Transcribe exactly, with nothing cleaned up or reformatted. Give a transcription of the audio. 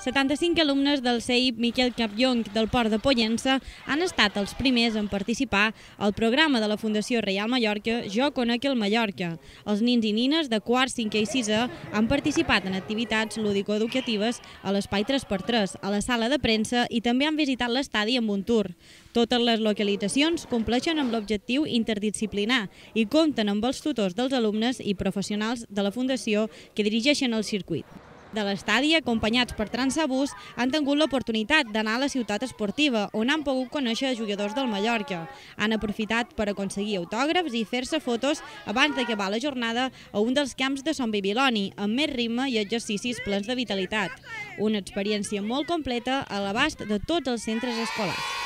setanta-cinc alumnes del C I P Miquel Campllong del Port de Pollença han estat els primers en participar al programa de la Fundació Reial Mallorca Jo conec el Mallorca. Els nins i nines de quart, cinquè i sisè han participat en activitats lúdico-educatives a l'espai tres per tres, a la sala de premsa i també han visitat l'estadi amb un tour. Totes les localitzacions compleixen amb l'objectiu interdisciplinar i compten amb els tutors dels alumnes i professionals de la Fundació que dirigeixen el circuit. De l'estadi, acompanyats per Transabús, han tingut l'oportunitat d'anar a la ciutat esportiva, on han pogut conèixer jugadors del Mallorca. Han aprofitat per aconseguir autògrafs i fer-se fotos abans d'acabar la jornada a un dels camps de Son Bibiloni, amb més ritme i exercicis plens de vitalitat. Una experiència molt completa a l'abast de tots els centres escolars.